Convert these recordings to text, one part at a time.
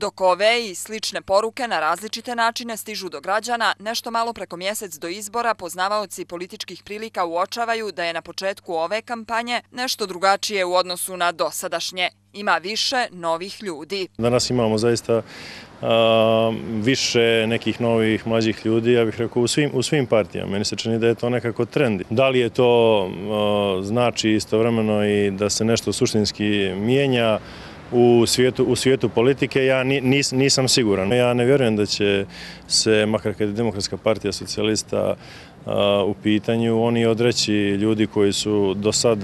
Dok ove i slične poruke na različite načine stižu do građana, nešto malo preko mjesec do izbora poznavaoci političkih prilika uočavaju da je na početku ove kampanje nešto drugačije u odnosu na dosadašnje. Ima više novih ljudi. Danas imamo zaista više nekih novih mlađih ljudi, ja bih rekao u svim partijama. Meni se čini da je to nekako trend. Da li je to znači istovremeno i da se nešto suštinski mijenja u svijetu politike, ja nisam siguran. Ja ne vjerujem da će se, makar kad je Demokratska partija socijalista u pitanju, oni odreći ljudi koji su do sad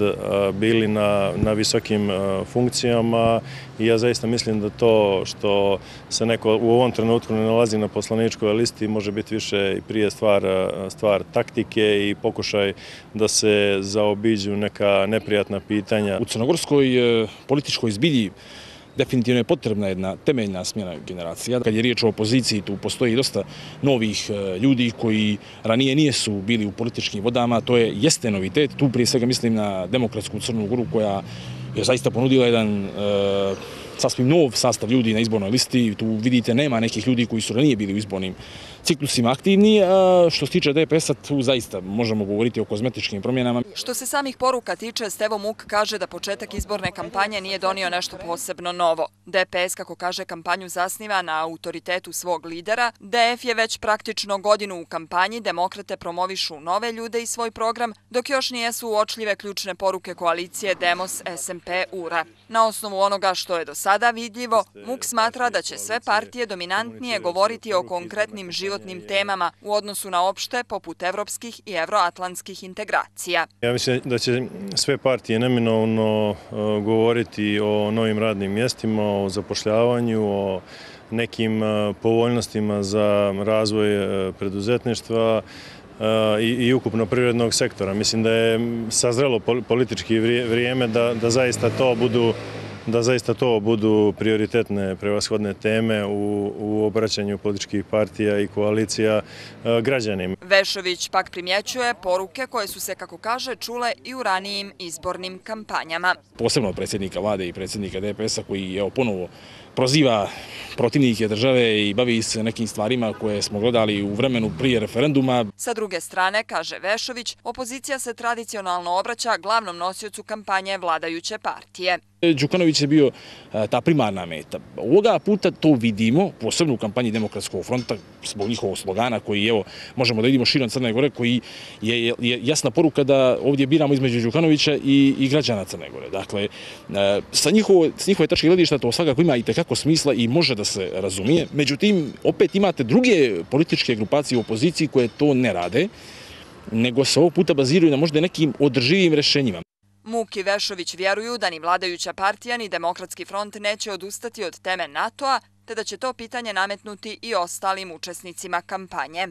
bili na visokim funkcijama i ja zaista mislim da to što se neko u ovom trenutku ne nalazi na poslaničkoj listi može biti više i prije stvar taktike i pokušaj da se zaobiđu neka neprijatna pitanja. U crnogorskoj političkoj zbilji definitivno je potrebna jedna temeljna smjena generacija. Kad je riječ o opoziciji, tu postoji dosta novih ljudi koji ranije nisu bili u političkim vodama. To jeste novitet. Tu prije svega mislim na Demokratsku Crnu Goru koja je zaista ponudila jedan sasvim nov sastav ljudi na izbornoj listi. Tu vidite nema nekih ljudi koji su ranije bili u izbornim ciklusima aktivni. Što se tiče DPS-a, tu zaista možemo govoriti o kozmetičkim promjenama. Što se samih poruka tiče, Stevo Muk kaže da početak izborne kampanje nije donio nešto posebno novo. DPS, kako kaže, kampanju zasniva na autoritetu svog lidera. DF je već praktično godinu u kampanji, demokrate promovišu nove ljude i svoj program, dok još nijesu uočljive ključne poruke koalicije Demos, SMP, URA. Na osnovu onoga što je do sada vidljivo, Muk smatra da će sve partije dominantnije govoriti o konkretnim životnim temama u odnosu na opšte poput evropskih i evroatlantskih integracija. Ja mislim da će sve partije neminovno govoriti o novim radnim mjestima, o zapošljavanju, o nekim povoljnostima za razvoj preduzetništva i ukupno privrednog sektora. Mislim da je sazrelo politički vrijeme da zaista to budu prioritetne, prevashodne teme u obraćanju političkih partija i koalicija građanima. Vešović pak primjećuje poruke koje su se, kako kaže, čule i u ranijim izbornim kampanjama. Posebno predsjednika vlade i predsjednika DPS-a koji ponovo proziva protivnike države i bavi se nekim stvarima koje smo gledali u vremenu prije referenduma. Sa druge strane, kaže Vešović, opozicija se tradicionalno obraća glavnom nosiocu kampanje vladajuće partije. Đukanović je bio ta primarna meta. Ovoga puta to vidimo, posebno u kampanji Demokratskog fronta, zbog njihovog slogana koji možemo da vidimo širom Crne Gore, koji je jasna poruka da ovdje biramo između Đukanovića i građana Crne Gore. Dakle, s njihove tačke gledišta to svakako ima i tekako smisla i može da se razumije. Međutim, opet imate druge političke grupacije u opoziciji koje to ne rade, nego se ovog puta baziraju na možda nekim održivim rješenjima. Muk i Vešović vjeruju da ni vladajuća partija ni Demokratski front neće odustati od teme NATO-a, te da će to pitanje nametnuti i ostalim učesnicima kampanje.